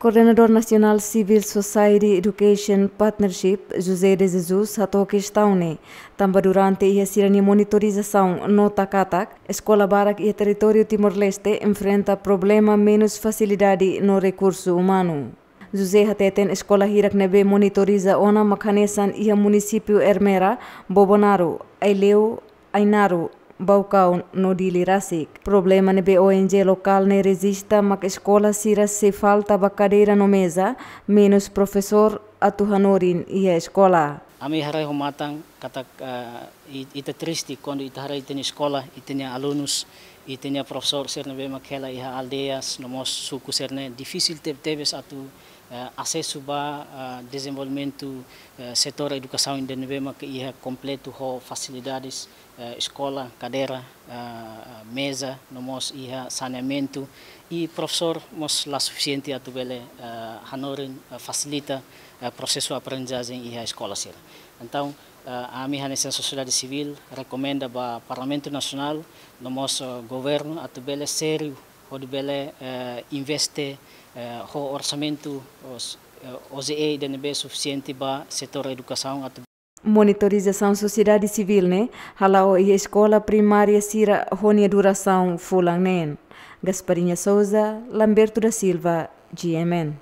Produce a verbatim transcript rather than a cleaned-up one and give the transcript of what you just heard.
Koordenadór Nasionál Civil Society Education Partnership, José de Jesus, hato'o kestaun ne'e, tanba durante iha sira-nia monitorizasaun nota katak eskola barak iha territóriu Timor-Leste enfrenta problema menus fasilidade no rekursu umanu. José hateten eskola hirak ne'ebé monitoriza ona mak hanesan iha munisípiu Ermera, Bobonaro, Aileu, Ainaro, Baucau no Dili rasik. Problema ne'ebé O N G lokál ne'e rejista mak eskola sira sei falta ba kadeira no meza, menus profesór atu hanorin iha eskola. Ami haree ho matan katak, eh, i-, ita triste kuandu ita haree ita-nia eskola, ita-nia alunus, ita-nia profesór sira ne'ebé mak hela iha aldeias no mós suku sira-ne'e difisil tebetebes atu, eh, asesu ba, eh, dezenvolvimentu, eh, setór edukasaun ida ne'ebé mak iha kompletu ho fasilidades, eh, eskola, kadeira, eh, meza, no mós iha saneamentu, i profesór mós la sufisiente atu bele, eh, hanorin, eh, fasilita, eh, prosesu aprendizajen iha eskola sira. Entaun, eh, ami hanesan sosiedade sivíl rekomenda ba Parlamentu Nasionál, no mós, eh, governu atu bele sériu, hodi bele, eh, investe, eh, ho orsamentu, os-, eh, O J E ida ne'ebé sufisiente ba setór edukasaun atu Monitorizasaun sosiedade sivíl ne'e hala'o iha eskola primária sira ho nia durasaun fulan neen. Gasparinha Souza, Lamberto da Silva, G M N.